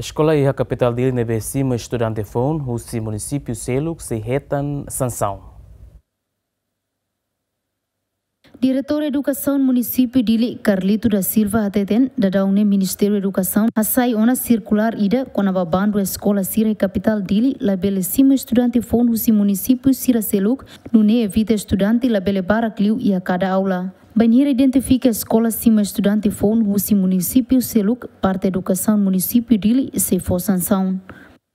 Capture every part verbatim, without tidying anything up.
Eskola iha kapitál Dili ne'ebé simu estudante foun husi munisípiu seluk sei hetan sansaun. Diretór Edukasaun Munisípiu Dili, Carlito da Silva, hateten daudaun ne'e Ministériu Edukasaun hasai ona sirkulár ida kona-ba bandu eskola sira iha kapitál Dili labele simu estudante foun husi munisípiu sira seluk, nune'e evita estudante labele barak liu iha kada aula. Bainhira identifika eskola simu estudante foun husi munisípiu seluk, parte Edukasaun Munisípiu Dili sei fó sansaun.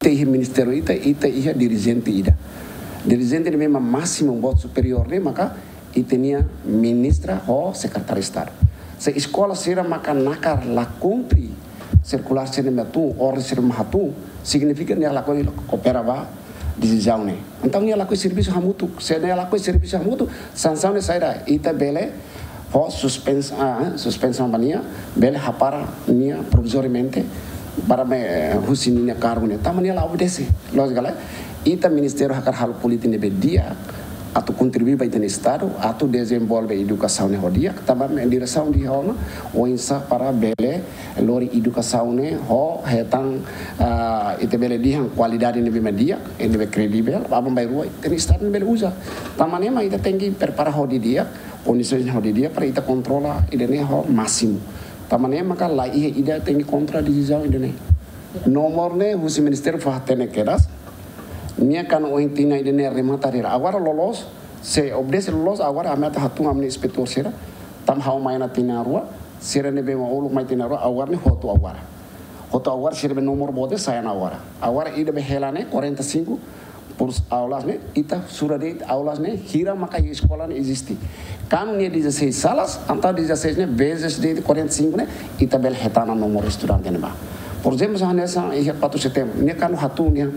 Ita iha ministériu ita, ita iha dirijente ida. Dirijente ne'e memang másimu, boot superiór ne'e maka ita-nia ministra ho sekretáriu Estadu. Se eskola sira maka nakar la kumpre sirkulár sira ne'ebé tun, orden sira mak hatun, signifika nia lakohi koopera ba desizaun ne'e. Entaun nia lakohi servisu hamutuk. Se nia lakohi servisu hamutuk, sansaun ne'e saida, ita bele fó suspens-, ah, suspensaun ba nia, bele hapara nia provizoriamente para mai, eh, husi nia kargu ne'e. Tanba nia la obedese. Loos ka lae? Ita ministériu hakarak halo polítika ne'ebé di'ak, atu kontribui ba ita-nia Estadu, atu dezenvolve edukasaun ne'e ho di'ak, tanba mak diresaun dehan ona oinsá para bele lori edukasaun ne'e ho hetan, ah, ita bele dehan kualidade ne'ebé mak di'ak, ne'ebé kredivel, aban-bainrua ita-nia Estadu ne'e bele uza. Tanba ne'e mak ita tenke prepara ho di'ak, kondisaun ho di'ak para ita kontrola ida-ne'e ho másimu. Tanba ne'e maka la iha ida tenke kontra desizaun ida-ne'e. Nomor ne'e husi ministériu fó hatene kedas. Nia kan ohin tinan ida-ne'e remata rira. Agora loloos, se obedese loloos, agora ami atu hatun ami-nia inspetór sira. Tanba ha'u mai ona tinan rua, sira ne'ebé mak uluk mai tinan rua, agora ne'e hotu agora. Hotu agora sira-nia nomor boot sai ona agora. Agora ida be hela ne'e quarenta e cinco por aulas ne'e, ita sura de'it aulas ne'e, hira maka iha eskola ne'e eziste. Kan nia dezasseis salas, entaun dezasseis ne'e, vezes de'it quarenta e cinco ne'e, ita bele hetan ona nomor estudante ne'ebá. Por ezemplu, se hanesan iha quatro de setembro, nia kan hatun nia,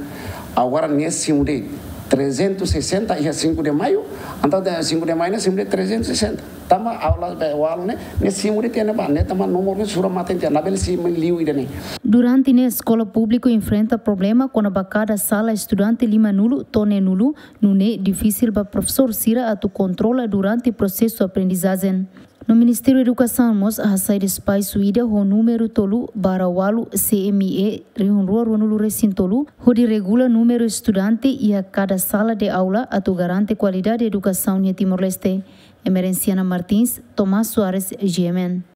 agora nia simu de'it trezentos e sessenta iha cinco de maio, entaun cinco de maio ne'e simu de'it trezentos e sessenta. Tanba aulas be walu ne'e, ne'e simu de'it tiha ne'ebá, ne'e tanba nomor ne'e sura mate tiha, labele simu liu ida-ne'e. Durante ne'e eskola públiku enfrenta problema kona-ba kada sala estudante limanulu to'o neenulu, nune'e difisil ba profesór sira atu kontrola durante prosesu aprendizajen. No Ministériu Edukasaun mós hasai despaxu ida ho númeru tolu barra ualu C M I E rihun rua ruanulu resin tolu, hodi regula númeru estudante iha kada sala de aula atu garante kualidade edukasaun iha Timor-Leste. Emerenciana Martins, Tomás Soares, G M N.